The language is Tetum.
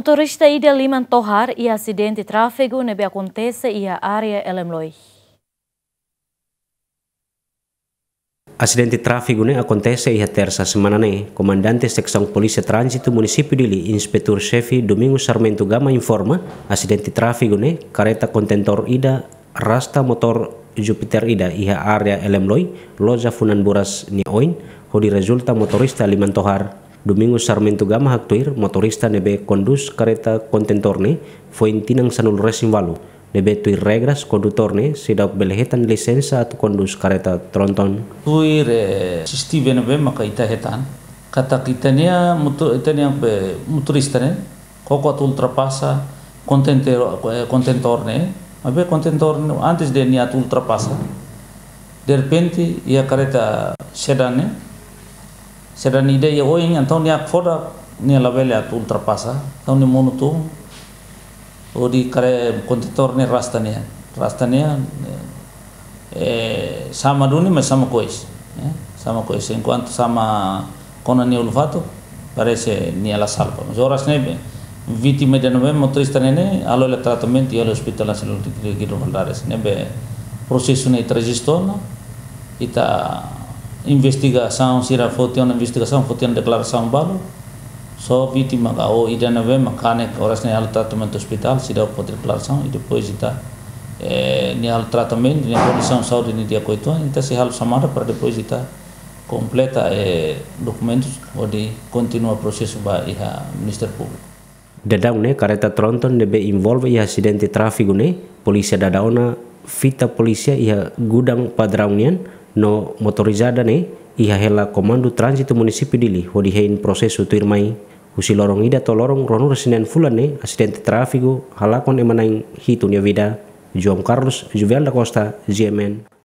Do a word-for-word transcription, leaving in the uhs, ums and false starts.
Motorista ida liman tohar iha asidente tráfegu ne'ebé akontese iha área Elemloi. Asidente tráfegu ne'e akontese iha tersa semana ne'e. Komandante Seksaun Polísia Tránzitu Munisípiu Dili, Inspetór Xefe Domingos Sarmento Gama informa, asidente tráfegu ne'e kareta kontentór ida rasta motór Jupiter ida iha área Elemloi, loja funan buras nia oin, hodi rezulta motorista liman tohar. Domingos Sarmento Gama haktuir, motorista ne'ebé kondús kareta kontentór ne'e foin tinan sanulu-resin-ualu, ne'ebé tuir regras kondutór ne'e seidauk bele hetan lisensa atu kondús kareta tronton. Tuir, eh, C C T V ne'ebé maka ita hetan katak ita-nia moto-, ita-nia be motorista ne'e koko atu ultrapasa kontentór, eh, kontentór ne'e. Maibé kontentór ne'e, antes de nia atu ultrapasa, derrepente iha kareta sedan ne'e, sedan ida iha oin, entaun nia hakfodak, nia labele atu ultrapasa, entaun nia monu tun, hodi kareta kontentór ne'e rasta nia, rasta nia, eh, eh, sama duni, mas sama kois, eh, sama kois. Enkuantu sama kona nia ulun-fatuk, parese nia la salva. Mas oras ne'ebé vítima ida ne'ebé motorista ne'e ne'e, halo hela tratamentu iha Hospital Nasionál Guido Valadares. Ne'ebé prosesu ne'e ita rejista ona, ita investigasaun sira foti ona, investigasaun foti ona deklarasaun balu. Só vítima ka o ida ne'ebé maka kanek oras ne'e halo tratamentu ospitál, seidauk foti deklarasaun, i depois ita, eh, nia halo tratamentu, nia kondisaun saúde ne'e di'ak uitoan, ita sei halo xamada para depois ita kompleta, eh, dokumentus hodi kontinua prosesu ba iha Ministériu Públiku. Daudaun ne'e kareta tronton ne'ebé envolve iha asidente tráfegu ne'e, polísia dada ona fita polísia iha gudaun padraun nian, no motorizada ne'e iha hela Komandu Tránzitu Munisípiu Dili hodi hein prosesu tuirmai. Husi loron ida to'o loron ruanulu-resin-neen fulan ne'e, asidente tráfegu halakon ema na'in hitu nia vida. João Carlos Juvel da Costa, G M N.